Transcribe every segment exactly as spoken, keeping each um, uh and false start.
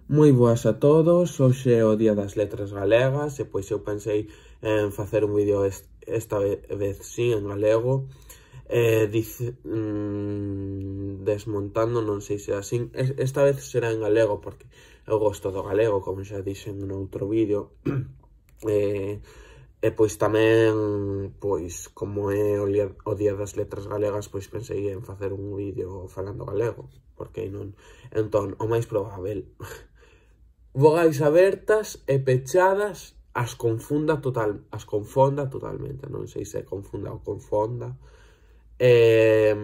Moi boas a todos, hoxe é o Día das Letras Galegas e pois eu pensei en facer un vídeo esta vez sí en galego eh, dice, mmm, desmontando, non sei se é así, esta vez será en galego porque eu gosto do galego, como xa dixen no outro vídeo. e, e pois tamén, pois como é o, o Día das Letras Galegas, pois pensei en facer un vídeo falando galego, porque non, entón, o máis probável vogais abertas e pechadas as confunda total, as confonda totalmente, non sei se confunda ou confonda. Eh,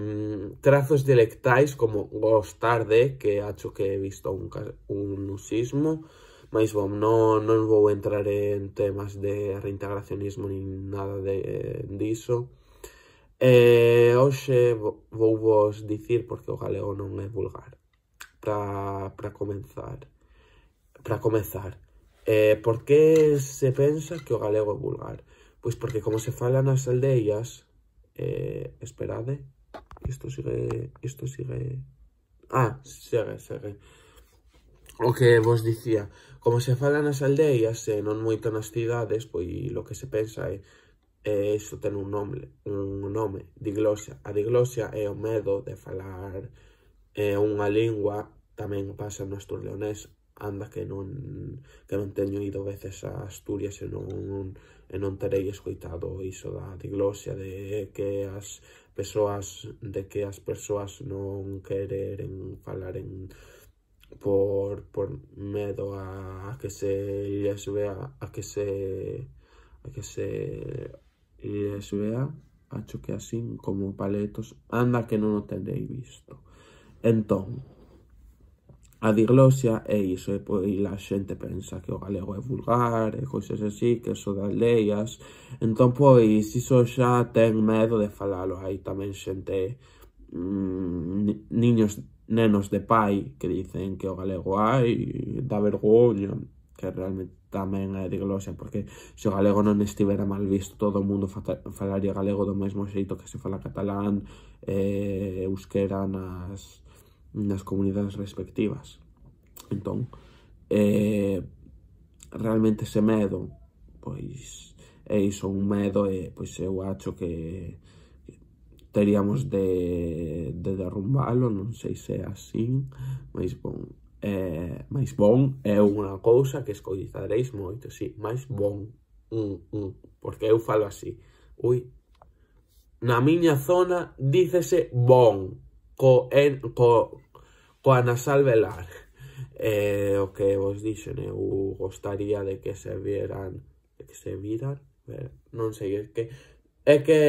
trazos dialectais como gostar de, que acho que he visto un, un usismo, mas bom, non, non vou entrar en temas de reintegracionismo nin nada de, diso. Eh, hoxe vou vos dicir porque o galego non é vulgar. Para comenzar. Para comezar, eh, por que se pensa que o galego é vulgar? Pois porque como se fala nas aldeias, eh, esperade, isto sigue, isto sigue, ah, segue, segue, o que vos dicía, como se fala nas aldeias e non moito nas cidades, pois lo que se pensa é, eh, iso ten un nome, un nome, diglosia. A diglosia é o medo de falar eh, unha lingua, tamén pasa no asturleonés, anda que non que non teño ido veces a Asturias e non, e non terei escoitado iso da diglosia, de que as persoas de que as persoas non queren falar en por, por medo a, a que se lles vea a que se a que se lles vea, acho que así como paletos, anda que non o terei visto. Entón, a diglosia é iso, e pois a xente pensa que o galego é vulgar e cousas así, que eso das aldeias. Entón, pois, iso xa ten medo de falalo. Hai tamén xente, mmm, niños, nenos de pai que dicen que o galego hai, dá vergoña, que realmente tamén é diglosia, porque se o galego non estivera mal visto, todo o mundo falaría galego do mesmo xeito que se fala catalán e euskera nas... nas comunidades respectivas. Entón, eh, realmente ese medo, pois, é iso, un medo, e pois eu acho que teríamos de, de derrumbalo, non sei se é así, mas bon, eh, máis bon é unha cousa que escoitaréis moito, sí, máis bon, mm, mm, porque eu falo así, ui, na miña zona dícese bon, co, en, co, coa nasal velar. Eh, o que vos dixen, eu gostaría de que se vieran, de que se viran, ver, non sei, é que é que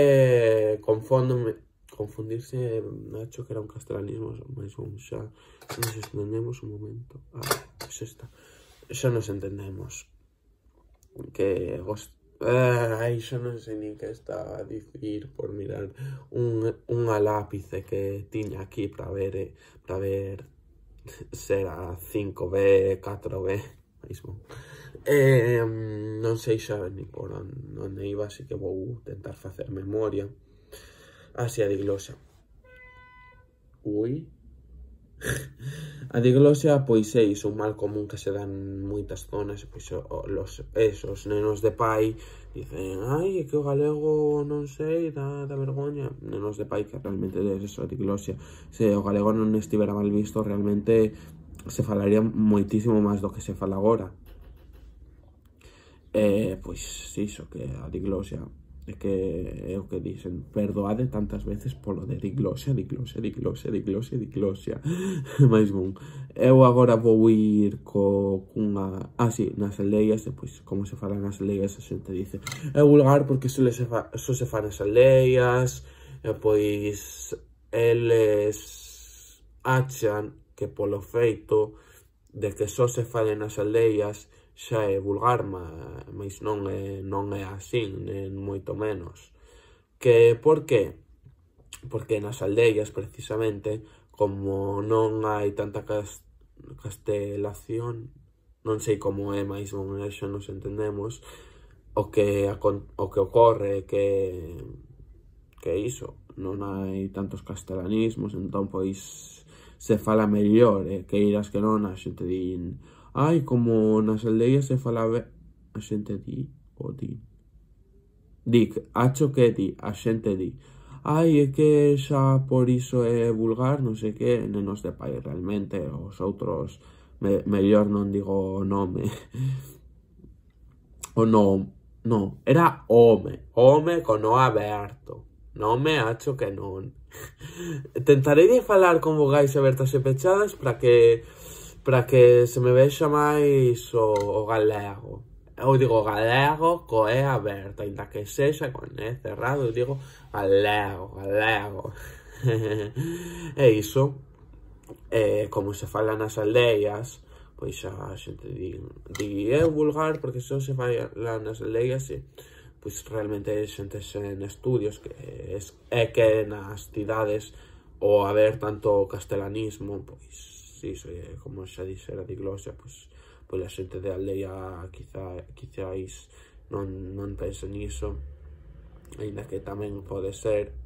confóndome, confundirse, acho que era un castelanismo, mas bon, xa nos entendemos un momento. Ah, pois esta, xa nos entendemos. Que gost... Eh, ai, xa non sei nin que está a dicir por mirar un, unha lápice que tiña aquí para ver, eh, para ver se era cinco B, catro B, mismo. Eh, non sei xa ni por onde iba, así que vou tentar facer memoria. Así, a diglosia. Ui... A diglosia, pois é iso, un mal común que se dá en moitas zonas, e pois os, esos nenos de pai dicen, ai, é que o galego non sei, dá, dá vergoña. Nenos de pai que realmente é eso, a diglosia. Se o galego non estivera mal visto, realmente se falaría moitísimo máis do que se fala agora. Eh, pois iso, que a diglosia é que é o que dicen, perdoade tantas veces polo de diglosia, diglosia, diglosia, diglosia, diglosia. Mais bon, eu agora vou ir co cunha, ah, sí, nas aldeias, e pois como se fala nas aldeias, a xente dice é vulgar porque só se fa, só se fa nas aldeias, e pois eles achan que polo feito de que só se fale nas aldeias xa é vulgar, mas non é, non é así, nem moito menos. Que por que? Porque nas aldeias, precisamente, como non hai tanta castelación, non sei como é, mais non é, xa nos entendemos, o que, o que ocorre é que, que iso, non hai tantos castelanismos, entón, pois, se fala mellor, e que irás que non, a xente din, ai, como nas aldeas se fala ben, a xente di, o di, dic, acho que di, a xente di, ai, é que xa por iso é vulgar, non sei que, nenos de pai, realmente, os outros, me, mellor non digo o nome, o non, non, era home, home con o aberto, nome acho que non. Tentarei de falar con vogais abertas e pechadas para que para que se me vexa máis o, o galego. Eu digo galego co E aberta, ainda que sexa con E cerrado, eu digo galego, galego. E iso, eh, como se fala nas aldeas, pois a xente di, di é vulgar porque só se fala nas aldeas e pois realmente xente en estudios que é que nas cidades o haber tanto castelanismo, pois iso é como xa dixera diglosia, pois pois a xente de aldea quizá, quizáis non, non pense niso, ainda que tamén pode ser.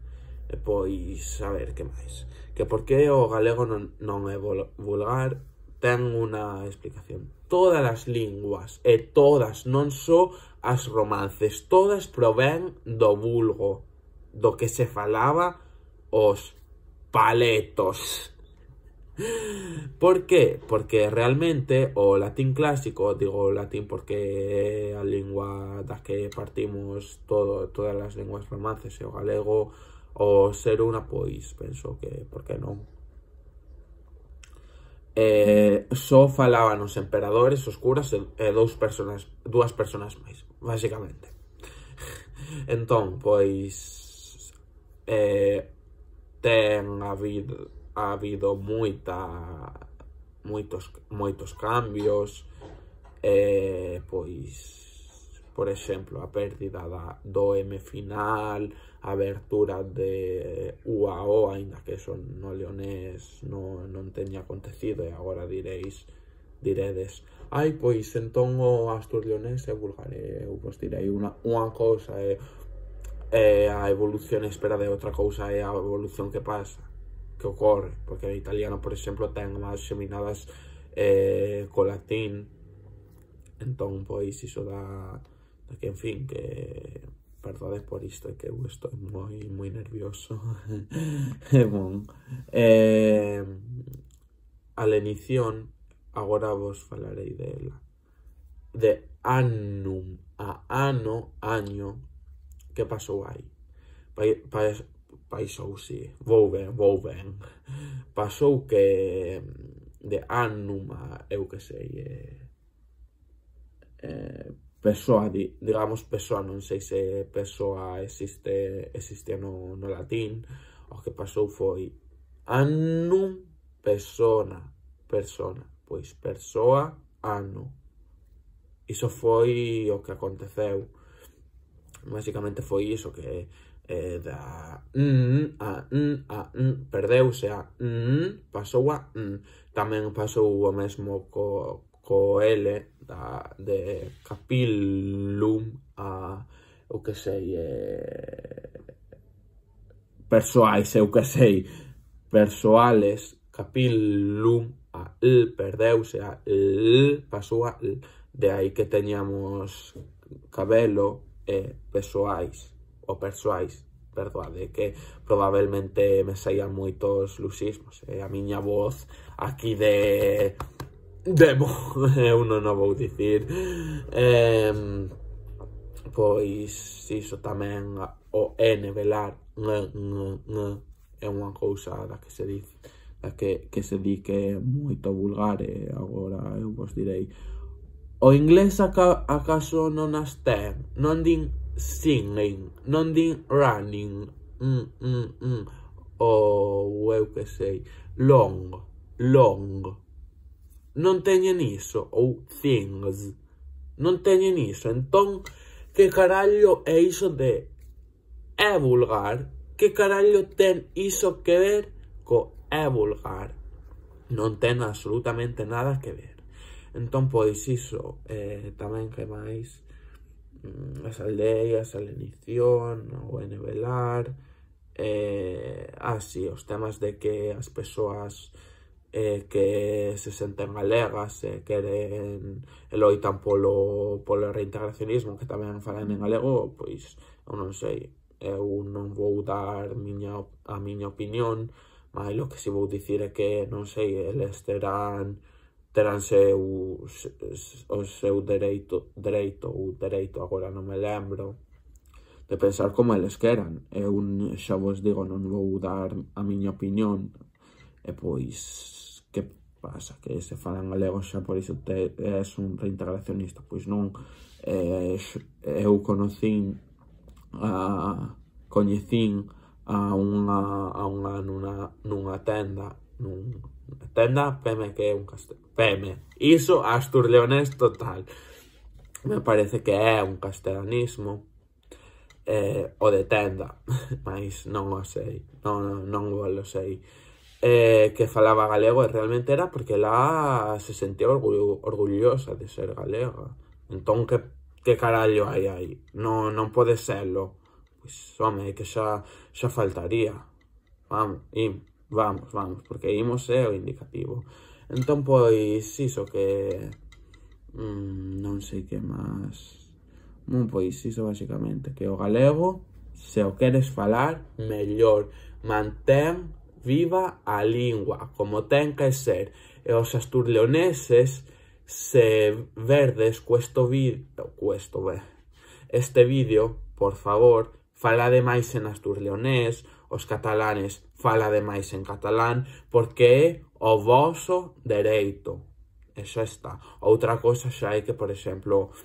E pois, a ver, que máis? Que por que o galego non, non é vulgar, ten unha explicación. Todas as linguas, e todas, non só as romances, todas provén do vulgo, do que se falaba os paletos. Por que? Porque realmente o latín clásico, digo latín porque é a lingua da que partimos todo, todas as linguas romances, e o galego, o ser unha, pois, penso que, por que non? Eh, só falaban os emperadores, os curas e, e dous personas, dúas personas máis, basicamente. Entón, pois, eh, ten habido, ha habido moita, moitos, moitos cambios, eh, pois, por exemplo, a pérdida da, do M final, a abertura de U a O, ainda que eso no leonés non, non teña acontecido, e agora diréis, diredes, ai, pois entón o astur-leonés é vulgar, e eu vos direi unha, unha cousa é, é a evolución espera de outra cousa, é a evolución que pasa, que ocorre, porque o italiano, por exemplo, ten máis xeminadas eh, co latín, entón, pois, iso da, da que, en fin, que perdode por isto, é que eu estou moi, moi nervioso. E bon, eh, a lenición, agora vos falarei dela, de annum a ano, año, que pasou aí? Pa, pa, paisou, si, vou ben, vou ben, pasou que de annum a, eu que sei, eh, eh, persoa, digamos persoa, non sei se persoa existe, existe no, no latín, o que pasou foi annum, persona, persona, pois persoa, ano. Iso foi o que aconteceu. Basicamente foi iso, que eh, da mm, a mm, a mm, perdeuse a mm, pasou a mm. Tamén pasou o mesmo co, co L, da, de capillum a, o que sei, eh, persoais, eu que sei, persoales, capillum a L, perdeuse a L, pasou a L, de aí que teñamos cabelo e persoais, o persoais, perdoade, que probablemente me saian moitos luxismos, e a miña voz aquí de... Demo, eu non o vou dicir, eh, pois iso tamén, o N, velar, ng, ng, ng, é unha cousa da que se di, da que, que se di que é moito vulgar, e agora eu vos direi, o inglés aca, acaso non as ten, non din singing, non din running, mm, mm, mm, ou eu que sei, long, long, non teñen iso, ou things, non teñen iso, entón, que carallo é iso de é vulgar? Que carallo ten iso que ver co é vulgar? Non ten absolutamente nada que ver. Entón, pois, iso, eh, tamén que máis, as aldeas, a lenición, o envelar, eh, así, os temas de que as persoas eh, que se senten galegas e eh, queren e loitan polo, polo reintegracionismo, que tamén falan en galego, pois eu non sei, eu non vou dar miña, a miña opinión, mas o que si vou dicir é que, non sei, eles terán terán seu, o seu dereito, dereito ou dereito, agora non me lembro, de pensar como eles queran. Eu xa vos digo, non vou dar a miña opinión, e pois, que pasa? Que se falan galego xa por iso te, és un reintegracionista? Pois non. Eh, eu conocín, a, coñecín a unha, a unha nunha, nunha tenda, nunha tenda, peme que é un castelo, peme, iso asturleonés total, me parece que é un castelanismo, eh, o de tenda, mas non o sei, non, non o sei. Eh, que falaba galego e realmente era porque lá se sentía orgullo, orgullosa de ser galega. Entón, que, que carallo hai aí? Non, non pode serlo. Pois, home, que xa, xa faltaría. Vamos, im, vamos, vamos, porque imos é o indicativo. Entón, pois, iso que... Mm, non sei que máis... Non, pois, iso basicamente, que o galego, se o queres falar, mellor mantén viva a lingua, como ten que ser. E os asturleoneses, se verdes cuesto vídeo, cuesto, ve, este vídeo, por favor, falade máis en asturleonés, os catalanes falade máis en catalán, porque é o voso dereito. Eso está. Outra cosa xa é que, por exemplo,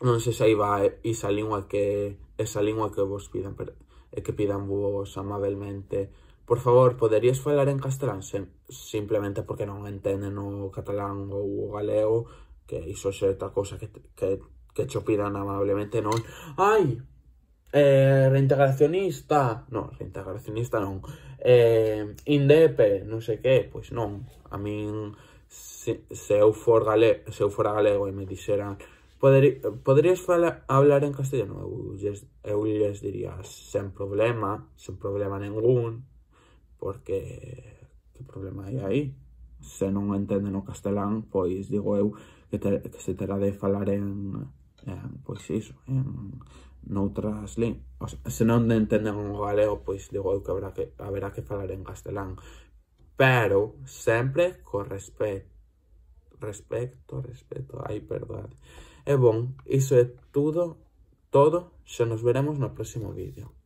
non sei se aí va esa lingua que, esa lingua que vos pidan, pero, e que pidan vos amablemente. Por favor, poderías falar en castelán? Sim, simplemente porque non entenden o catalán ou o galego, que iso é outra cosa que, que, que cho pidan amablemente, non? Ai, eh, reintegracionista, non, reintegracionista non, eh, indepe, non sei que, pois non, a min, se, se eu for galego, se eu fora galego e me dixeran, Poderi, poderías falar, hablar en castellano? Eu lles, eu lles diría, sen problema, sen problema ningún, porque que problema hai aí? Se non entenden o castelán, pois digo eu que, te, que se terá de falar en, en pois iso, en noutras linguas. Se non entenden o galego, pois digo eu que haberá que, haberá que falar en castelán. Pero sempre co respeto. Respecto, respeto, ai, perdón. E bon, iso é tudo, todo, xa nos veremos no próximo vídeo.